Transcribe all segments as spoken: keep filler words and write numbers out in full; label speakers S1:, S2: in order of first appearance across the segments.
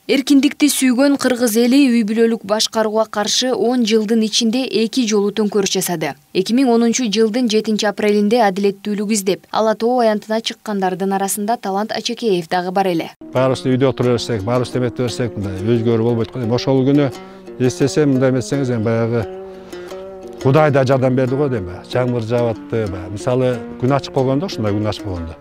S1: Эркиндикти сүйгөн кыргыз эли үй бүлөлүк башкарууга каршы он жылдын ичинде эки жолу төңкөрүш жасады. эки миң онунчу жылдын жетинчи апрелинде адилеттүүлүк издеп, Ала тоо аянтына чыккандардын арасында Талант Ачекеев дагы бар эле.
S2: Баарыбыз үйдө отура берсек, баарыбыз эметте берсек, мындай өзгөрүү болбойт го. Ошол күнү эстесем, мындай эмесеңиз, эми баягы Кудай да жардам берди го дейм. Жамгыр жаап атты, мисалы күн ачык болгондо, ушундай күн ачык болгондо.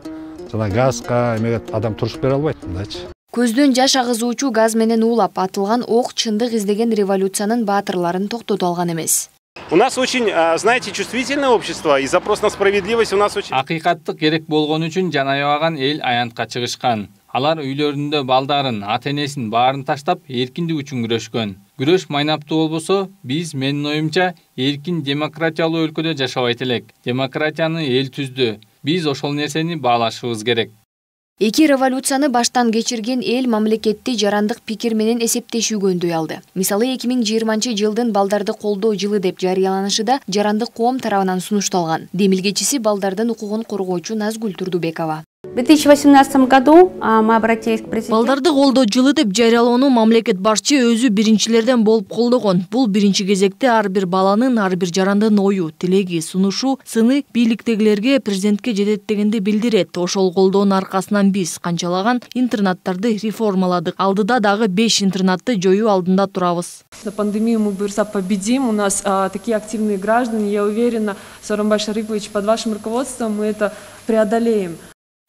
S2: Жана газга эмеге адам туруш бере албайт мындайчы.
S1: Көздөн жаш агызуучу газ менен уулап атылган ок чындык издеген революциянын баатырларын токтото алган эмес.
S3: У нас очень, знаете, чувствительное общество, и запрос на справедливость у нас очень...
S4: Акыйкаттык керек болгон үчүн жан аябаган эл аянтка чыгышкан. Алар үйлөрүндө балдарын, ата-энесин баарын таштап, эркиндик үчүн күрөшкөн. Күрөш майнаптуу болбосо, биз, менин оюмча, эркин демократиялуу өлкөдө жашабайт элек. Демократияны эл түздү. Биз ошол нерсени баалашыбыз керек.
S1: Эки революцияны баштан кечирген эл мамлекетти жарандык пикир менен эсептешүүгө алды. Мисалы эки миң жыйырманчы жылдын балдарды колдоо жылы деп жарыяланышында жарандык коом тарабынан сунушталган. Демилгечиси балдардын укугун коргоочу Назгүл Турдубекова.
S5: В две тысячи восемнадцатом году мы обратились к президенту.
S6: Балдарды колдоо жылы деп жарыялоону мамлекет башчы өзү биринчилерден болуп колдогон. Бул биринчи кезекте ар бир баланын, ар бир жарандын ою, тилеги, сунушу, сыны бийликтегилерге, президентке жетет дегенди билдирет. Ошол колдоонун аркасынан биз канчалаган интернаттарды реформаладык. Алдыда дагы беш интернатты жоюу алдында турабыз.
S7: На пандемию мы быстро победим. У нас а, такие активные граждане. Я уверена, Сооронбай Шарипович, под вашим руководством мы это преодолеем.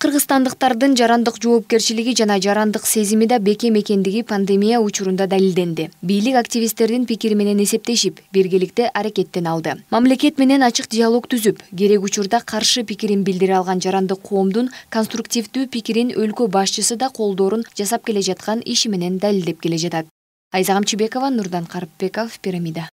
S1: Кыргызстандыктардын жарандык жоопкерчилиги жана жарандык сезими да бекем экендиги пандемия учурунда далилденди. Бийлик активисттердин пикири менен эсептешип, биргеликте аракеттен алды. Мамлекет менен ачык диалог түзүп, керек учурда каршы пикирин билдире алган жарандык коомдун конструктивдүү пикирин өлкө башчысы да колдоорун жасап келе жаткан иши менен далилдеп келе жатат. Айза Камчыбекова, Нурдан Карыпбеков, Пирамида.